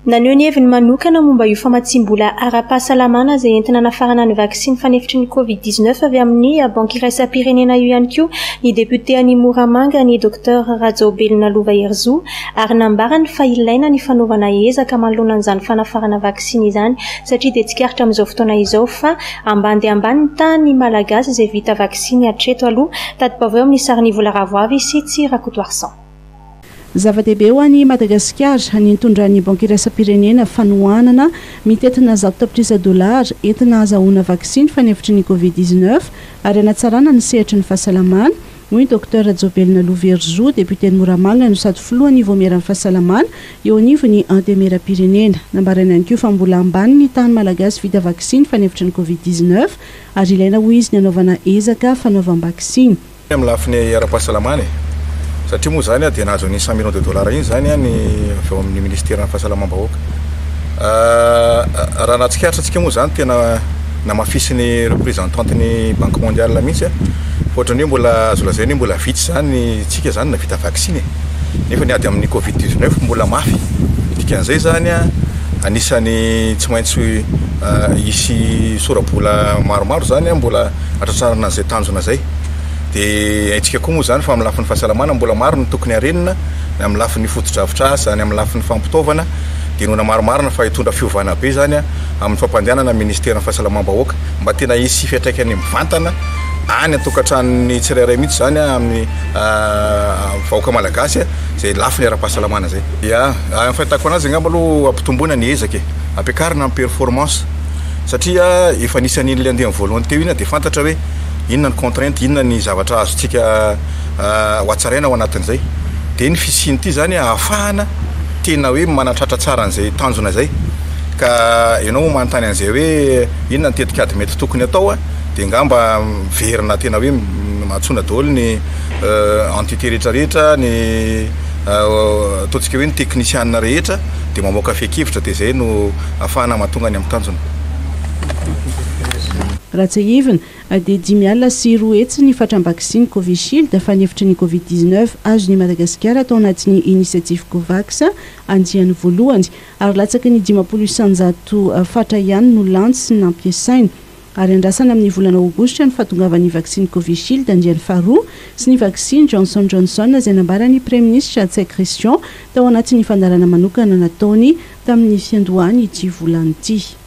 Naneho ny heviny manokana momba io famatsiam-bola ara-pahasalamana izay entina hanafarana ny vaksiny fanefitry ny Covid 19 avy amin'ny Banky iraisam-pirenena io ihany koa ny depiote an'i Moramanga, ny Docteur Rajaobelina Lova Herizo, ary nambarany fa ilaina ny fanaovana ezaka manoloana an'izany fanafarana vaksiny izany satria dia tsikaritra amin'izao fotoana izao fa ambany dia ambany ny tahan'ny Malagasy izay vita vaksiny hatreto aloha. Tati-baovao eo amin'ny sarin'i Vola Ravoavy sy Tsihy Rakotoarison. Zava-dehibe ho an'i Madagasikara ny nitondran'ny Banky iraisam-pirenena fanohanana mitentina 100 tapitrisa dolara entina hahazahoana vaksiny fanefitry ny Covid 19 ary hanatsarana ny sehatry ny fahasalamana, hoy ny Docteur Rajaobelina Loverizo, depioten'i Moramanga no sady filohan'ny Vaomieran'ny fahasalamana eo anivon'ny Antemieram-pirenena. Nambarany ihany koa fa mbola ambany ny tahan'ny Malagasy vita vaksiny fanefitry ny Covid 19 ary ilaina hoy izy ny hanaovana ezaka fanaovam-baksiny. Amin'ny lafiny ara-pahasalamana e! Satria moa izany dia nahazo an'iny 100 millions de dollars iny izany ny avy ao amin'ny ministeran'ny fahasalamam-bahoaka. Raha nahatsikaritra antsika moa izany tena namafisin'ny représentante-n'ny banque mondiale mihitsy fa ohatran'ny hoe mbola azo lazaina hoe mbola vitsy izany tsika izany nahavita vaksiny e! Nefa ny ady amin'ny covid 19 mbola mafy. Dikan'izay izany anisan'ny tsy maintsy hisy sora-bola maromaro izany mbola hatratrarana an'izay tanjona izay. Dia haintsika koa moa izany fa amin'ny lafiny fahasalamana mbola maro ny tokony harenina, ny amin'ny lafiny fotodrafitrasa, ny amin'ny lafiny fampitaovana, dia inoana marimarina fa hitondra fiovana be izany amin'ny fampandehanana ny ministeran'ny fahasalamam-bahoaka mba tena hisy fiantraikany mivantana any an-tokantranon'ny tsirairay mihitsy izany amin'ny vahoaka malagasy izay lafiny ara-pahasalamana izay. Ya, ny fahitako anazy angamba aloha ampitomboina ny ezaka e, ampiakarina ny performance satria efa nisy an'iny ilay andiany voalohany teo iny dia fantatra hoe inona ny contrainte, inona ny zavatra azontsika ho hatsaraina ao anatin'izay. Dia ny fisian'ity izany ahafahana tena hoe manatratra tsara an'izay tanjona izay. Ka ianao moa manontany an'izay hoe inona ny tetikady mety tokony atao dia angamba miverina tena hoe antsoina daholo ny entité rehetra rehetra, ny ataontsika hoe ny teknisianina rehetra dia mamoaka fehin-kevitra dia izay no ahafahana mahatonga ny amin'ny tanjona. Raha tsiahivina, dia 205 ny fatram-baksiny Covishield fanefitry ny Covid 19 azon'i Madagasikara tao anatin'ny Initiative Covax andiany voalohany, ary latsaky ny 50% fatra ihany no lany sy nampiasaina. Ary andrasana amin'ny volana aogositra ny fahatongavan'ny vaksiny Covishield andiany faharoa sy ny vaksiny Johnson Johnson izay nambaran'ny Praiminisitra Ntsay Christian tao anatin'ny fandaharana manokana nataony tamin'ny fiandohan'ity volana ity.